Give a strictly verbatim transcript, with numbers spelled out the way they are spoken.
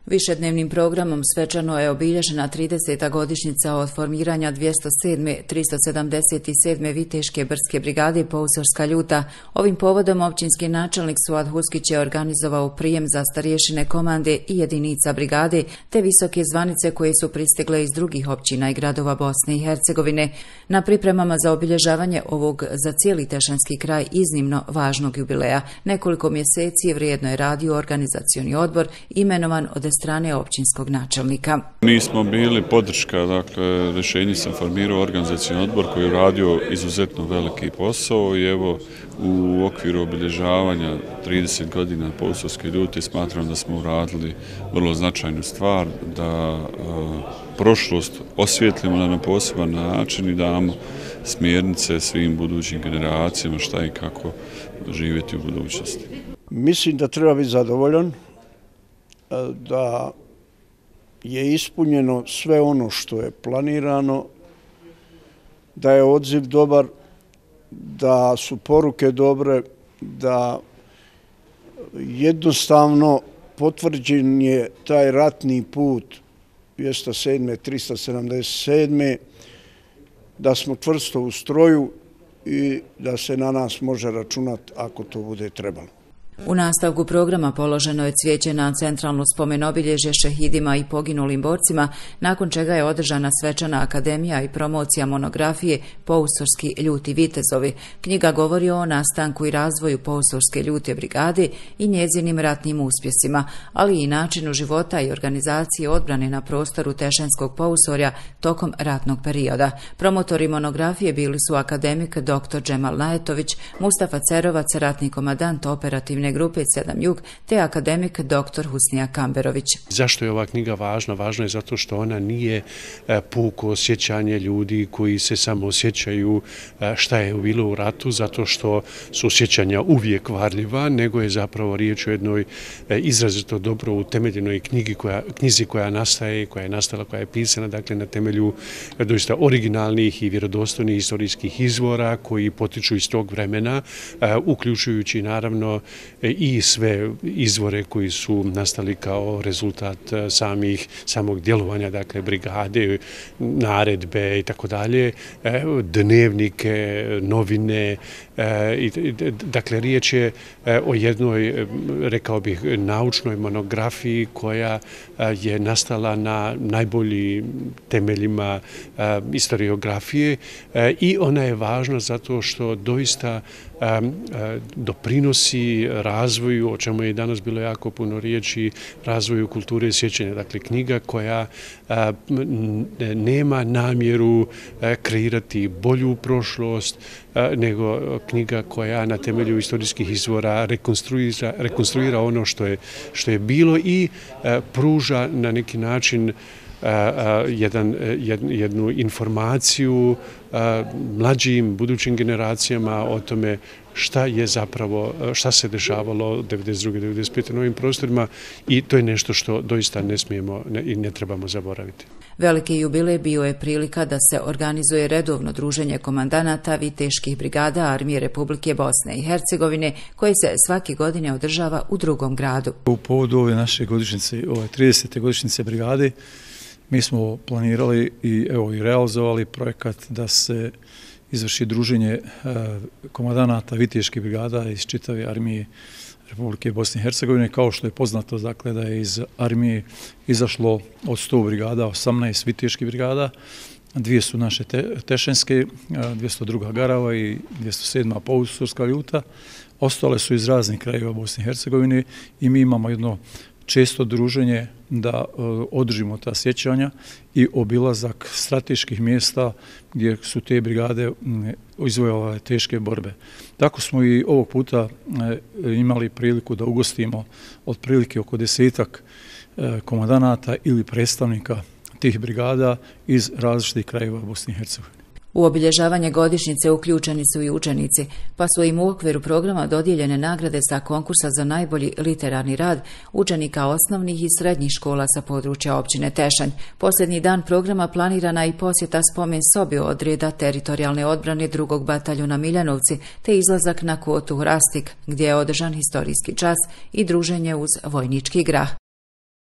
Višednevnim programom svečano je obilježena trideseta godišnjica od formiranja dvjesto sedme. tristo sedamdeset sedme Viteške brdske brigade Pousorska ljuta. Ovim povodom općinski načelnik Suad Huskić je organizovao prijem za starješine komande i jedinica brigade, te visoke zvanice koje su pristigle iz drugih općina i gradova Bosne i Hercegovine. Na pripremama za obilježavanje ovog za cijeli Tešanski kraj iznimno važnog jubileja nekoliko mjeseci vrijedno je radio organizacioni odbor imenovan od strane općinskog načelnika. Mi smo bili podrška, dakle, rješenje sam formirao organizacioni odbor koji je radio izuzetno veliki posao i evo u okviru obilježavanja trideset godina Pousorske ljute smatram da smo uradili vrlo značajnu stvar, da e, prošlost osvijetlimo na poseban način i damo smjernice svim budućim generacijama šta i kako živjeti u budućnosti. Mislim da treba biti zadovoljan, da je ispunjeno sve ono što je planirano, da je odziv dobar, da su poruke dobre, da jednostavno potvrđen je taj ratni put dvjesto sedme. tristo sedamdeset sedme. da smo čvrsto u stroju i da se na nas može računati ako to bude trebalo. U nastavku programa položeno je cvijeće na centralno spomen-obilježje šehidima i poginulim borcima, nakon čega je održana svečana akademija i promocija monografije Pousorski ljuti vitezovi. Knjiga govori o nastanku i razvoju Pousorske ljute brigade i njezinim ratnim uspjesima, ali i načinu života i organizacije odbrane na prostoru Tešanskog Pousorja tokom ratnog perioda. Promotori monografije bili su akademik doktor Džemal Najetović, Mustafa Cerovac, ratni komadant operativne grupe sedam Jug, te akademik doktor Husnija Kamberović. Zašto je ova knjiga važna? Važna je zato što ona nije puko osjećanje ljudi koji se samo osjećaju šta je bilo u ratu, zato što su osjećanja uvijek varljiva, nego je zapravo riječ o jednoj izrazito dobro utemeljenoj knjigi koja, knjizi koja nastaje, koja je nastala, koja je pisana, dakle na temelju doista originalnih i vjerodostojnih historijskih izvora koji potiču iz tog vremena, uključujući naravno i sve izvore koji su nastali kao rezultat samih, samog djelovanja, dakle brigade, naredbe i tako dalje, dnevnike, novine, dakle riječ je o jednoj, rekao bih, naučnoj monografiji koja je nastala na najboljim temeljima historiografije i ona je važna zato što doista doprinosi razvoju, o čemu je danas bilo jako puno riječi, razvoju kulture sjećanja. Dakle, knjiga koja nema namjeru kreirati bolju prošlost, nego knjiga koja na temelju historijskih izvora rekonstruira, rekonstruira ono što je, što je bilo i pruža na neki način Jedan, jednu informaciju mlađim, budućim generacijama o tome šta je zapravo, šta se dešavalo devedeset druge. devedeset pete na ovim prostorima i to je nešto što doista ne smijemo i ne trebamo zaboraviti. Veliki jubilej bio je prilika da se organizuje redovno druženje komandanata viteških brigada Armije Republike Bosne i Hercegovine, koje se svake godine održava u drugom gradu. U povodu ove naše godišnjice, ove tridesete godišnjice brigade, mi smo planirali i evo i realizovali projekat da se izvrši druženje komandanata viteških brigada iz čitave Armije Republike Bosne i Hercegovine. Kao što je poznato, dakle, da je iz armije izašlo od sto brigada, osamnaest viteških brigada, dvije su naše te, tešenske, dvjesto druga Garava i dvjesto sedma Pousorska ljuta. Ostale su iz raznih krajeva Bosne i Hercegovine i mi imamo jedno često druženje da održimo ta sjećanja i obilazak strateških mjesta gdje su te brigade izvojevale teške borbe. Tako smo i ovog puta imali priliku da ugostimo otprilike oko desetak komandanata ili predstavnika tih brigada iz različitih krajeva Bosne i Hercegovine. U obilježavanje godišnjice uključeni su i učenici, pa su im u okviru programa dodijeljene nagrade sa konkursa za najbolji literarni rad učenika osnovnih i srednjih škola sa područja općine Tešanj. Posljednji dan programa planirana i posjeta spomen sobi odreda teritorijalne odbrane drugog bataljuna Miljanovci, te izlazak na kvotu Rastik, gdje je održan historijski čas i druženje uz vojnički grah.